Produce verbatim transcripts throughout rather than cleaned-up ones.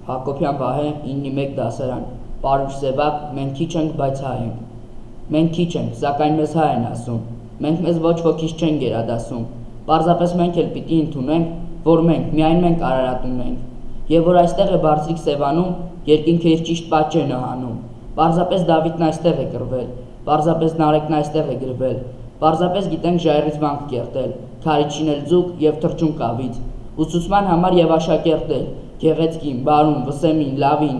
Հակոբյան Վահե իննի մեկ դասարան, Պարուշ Սևակ, մենք քիչ ենք, բայց հայ ենք։ Մենք քիչ ենք, սակայն մեզ հայ են ասում, մենք մեզ ոչ ոքից չեն գերադասում, պարզապես մենք էլ պիտի ընդունենք, որ մենք, միայն մենք Արարատում ենք, եւ որ այստեղ է բարձրիկ Սևանում, երկինքը իր ճիշտ պատճենը հանում, պարզապես Դավիթն այստեղ է կռվել, պարզապես Նարեկն այստեղ է գրվել, պարզապես գիտենք ժայռից վանք կերտել, քարիչին էլ ձուկ եւ թրջուն կավից, ուսուցման համար եւ աշակերտել, գեղեցկին, բարուն, վսեմին, լավին,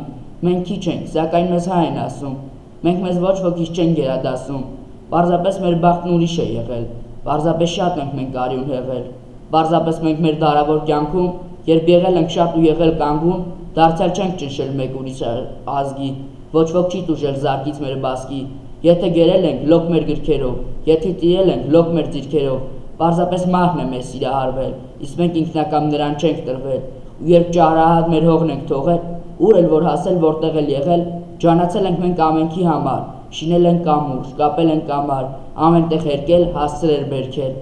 մենք քիչ ենք, սակայն մեզ հայ են ասում, մենք մեզ ոչ ոքից չեն գերադասում, պարզապես մեր բախտն ուրիշ է եղել, պարզապես շատ ենք մենք արյուն հեղել, պարզապես մենք մեր դարավոր կյանքում, երբ եղել ենք շատ ու եղել կանգուն, դարձյալ չենք ճնշել մեկ ուրիշ ազգի, ոչ ոք չի տուժել զարկից մեր բասկի, եթե գերել ենք լոկ մեր գրքերով, եթե տիրել ենք լոկ մեր ձիրքերով, պարզապես մահն է մեզ սիրահարվել, իսկ մենք ինքնակամ նրան չենք տրվել, ու երբ ճարահատ մեր հողն ենք թողել, ուր էլ որ հասել, որտեղ էլ եղել, ջանացել ենք մենք ամենքի համար, շինել ենք կամուրջ, կապել ենք կամար, ամենտեղ հերկել, հասցրել բերքել,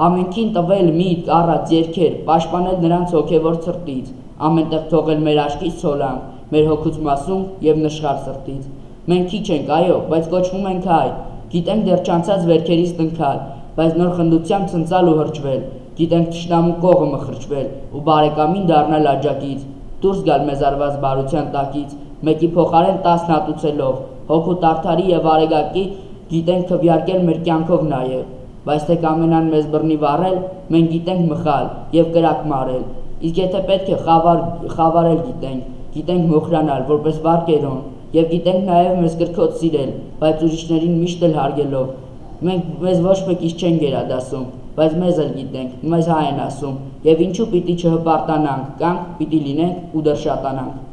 ամենքին տվել միտք, առած երգեր, պաշտպանել նրանց հոգևոր ցրտից, ամենտեղ թողել մեր աչքից ցոլանք, մեր հոգուց մասում եւ նշխար սրտից։ Մենք քիչ ենք, այո, բայց կոչվում ենք հայ, գիտենք դեռ չանցած վերքերից տնքալ, բայց նոր խնդությամբ ցնցալ ու հրճվել, գիտենք թշնամու կողը մխրճվել ու բարեկամին դառնալ աջակից, դուրս գալ մեզ արված բարության տակից, մեկի փոխարեն տասն հատուցելով, հոգու տարթարի եւ արեգակի, գիտենք քվյարկել մեր կյանքով նաեւ, բայց թե կամենան մեզ բռնի վառել, մենք գիտենք մխալ եւ կրակ մարել, իսկ եթե պետք է խավար խավարել գիտենք, գիտենք մոխրանալ որպես վարկերոն, եւ գիտենք նաեւ մեզ կրքոտ սիրել, բայց ուրիշներին միշտ էլ հարգելով, մենք մեզ ոչ մեկից չեն գերադասում, բայց մեզ էլ գիտենք, մեզ հայ են ասում, եւ ինչու պիտի չհպարտանանք, կանք պիտի լինենք ու դեռ շատանանք։